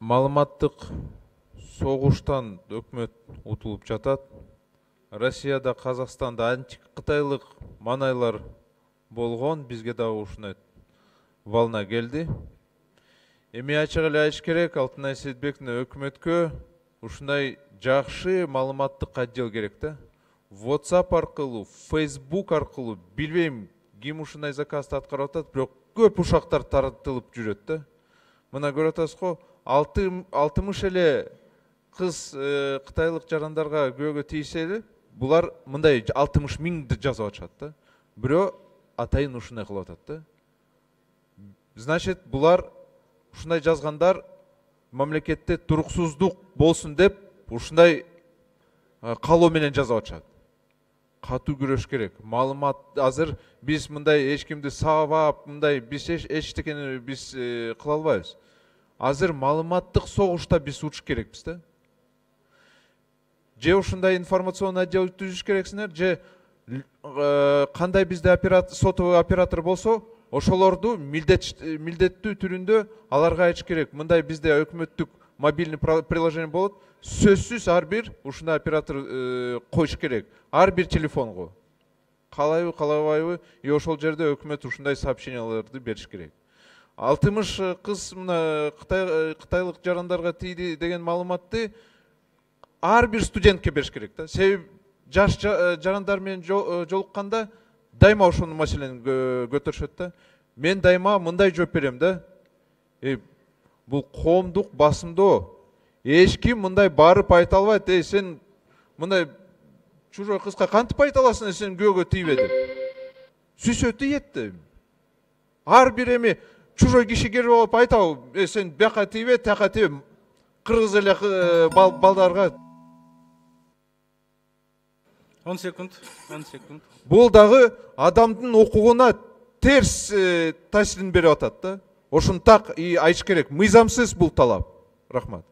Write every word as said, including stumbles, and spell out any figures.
Маалыматтык согуштан өкмөт утулуп жатат. Россияда, Казакстанда анти-кытайлык манайлар болгон, бизге дагы ушундай волна келди. Эми ачык эле айтыш керек, Алтынай Сейитбековна, өкмөткө ушундай жакшы маалыматтык отдел керек да. WhatsApp аркылуу, Facebook аркылуу, билбейм ким ушундай заказды аткарып атат, бирок көп ушактар таратылып жүрөт да. Мына көрүп атасызго, алтымыш эле кыз кытайлык жарандарга күйөөгө тийсе эле, булар мындай алтымыш миңди жазып атышат да. Бирөө атайын ушундай кылып атат да. Значит, булар ушундай жазгандар мамлекетте туруксуздук болсун деп ушундай каалоо менен жазып атышат. Катуу күрөш керек. Маалымат азыр биз мындай эч кимди сабап, мындай биз эчтекени биз кыла албайбыз. Азыр маалыматтык согушта биз учуш керекпиз да. Же ушундай информационный отдел түзүш керексиңер, же кандай бизде оператор, сотовый оператор болсо, ошолорду милдеттүү түрүндө аларга айтыш керек. Мындай бизде өкмөттүк мобильный приложение болот. Сөзсүз ар бир ушундай оператор коюш керек. Ар бир телефонго. Калайбы, калабайбы, и ошол жерде өкмөт ушундай сообщенияларды бериш керек. алтымыш кыз мына кытайлык жарандарга тийди деген маалыматты ар бир студентке бериш керек да. Себеби жаш жарандар менен жолукканда дайыма ошол маселени көтөрүшөт да. Мен дайыма мындай жооп берем да. Э, бул коомдук басымдоо. Эч ким мындай барып айта албайт. Эй, сен мындай чужой кызга кантип айта аласың, сен күйөөгө тийбе деп. Сүсө тиет да. Ар бир эми чужой киши келип алып айтабы, э, сен бияка тийбе, тияка тийбе. Кыргыз эле балдарга. он секунд, он секунд. Бул дагы адамдын укугуна терс таасирин берип атат да. Ошону так и айтыш керек. Мыйзамсыз бул талап. Рахмат.